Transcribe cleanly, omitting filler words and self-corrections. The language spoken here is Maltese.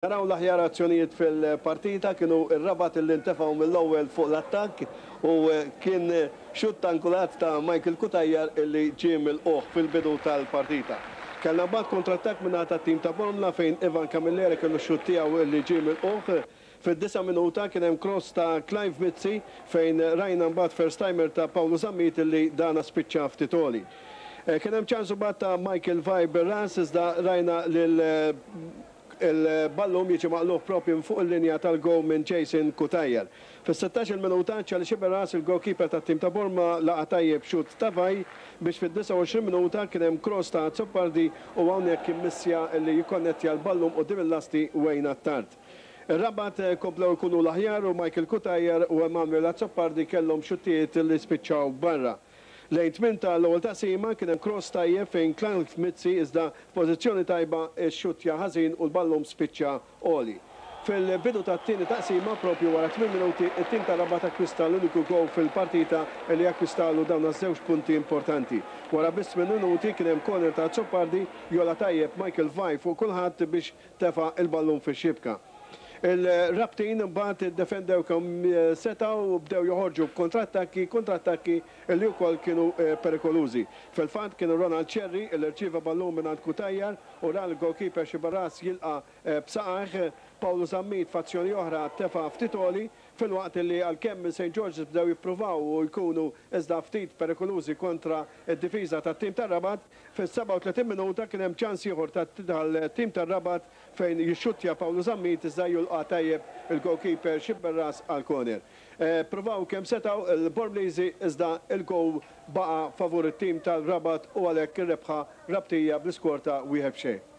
Naraw l-aħjar azzjonijiet fil-partita kienu r-Rabat li ntefgħu mill-ewwel fuq l-attakk u kien xutt angulat ta' Michael Cutajar li ġie milqugħ fil-bidu tal-partita. Kellna mbagħad kontrattakk min-naħa tat-tim ta' Bormla fejn Ivan Camilleri kellu x-xutt tiegħu li ġie milqugħ. Fid-disa' minuta kien hemm cross ta' Clive Mizzi fejn rajna mbagħad first timer ta' Paolo Zammit li dana spiċċa ftit għoli. Kien hemm ċans imbagħad ta' Michael Vai bir-ras iżda rajna lil Il-ballun jiġi maqlugħ proprju minn fuq il-linja tal-gowl minn Jason Cutajar. Fis-sittax-il minuta, Charlie Sciberras, il-goalkeeper tat-tim ta' Borma laqa' tajjeb xutt ta' Vai biex fid-29 minuta kien hemm cross ta' Azzopardi u hawnhekk kien missja li jikkonnettja l-ballun quddiem il-lasti Wayne Attard. Ir-Rabat komplew ikunu l-aħjar u Michael Cutajar u Emmanuel Azzopardi kellhom xuttijiet li spiċċaw barra. Lejn tmiem ta' l-ewwel taqsima kien hemm cross tajjeb fejn Clive Mizzi iżda f'pożizzjoni tajba xxuttja ħażin u l-ballun spiċċa għoli. Fil-bidu tat-tieni taqsima, proprju wara tmien minuti, it-tim ta' Rabat akkwista l-uniku goal fil-partita li akkwistalu dawn għaż-żewġ punti importanti. Wara biss tmien minuti kien hemm corner ta' Azzopardi jogħla tajjeb Michael Vai fuq kulħadd biex tefa' l-ballun fix-xibka. Il-Rabtin imbagħad iddefendew kemm setgħu u bdew joħorġu b'kontrattakki, kontrattakki li wkoll kienu perikolużi. Fil-fatt kien Ronald Scerri li rċieva ballun mingħand Cutajar u ra l-goalkeeper Sciberras jilqa' b'saqajh. Paolo Zammit f'azzjoni oħra tefa' ftit għoli filwaqt li għalkemm St George's bdew jippruvaw u jkunu iżda ftit perikolużi kontra d-difiża tat-tim tar-Rabat, fis-37 minuta kien hemm ċans ieħor tal-tim tar-Rabat fejn jixxuttja Paolo Zammit iżda julqa' tajjeb il-goalkeeper Sciberras għal corner. Ppruvaw kemm setgħu l-Bormliżi iżda l-goal baqa' favur it-tim tal-Rabat u għalhekk ir-rebħa Rabtija bl-iskor ta' wieħed b'xejn.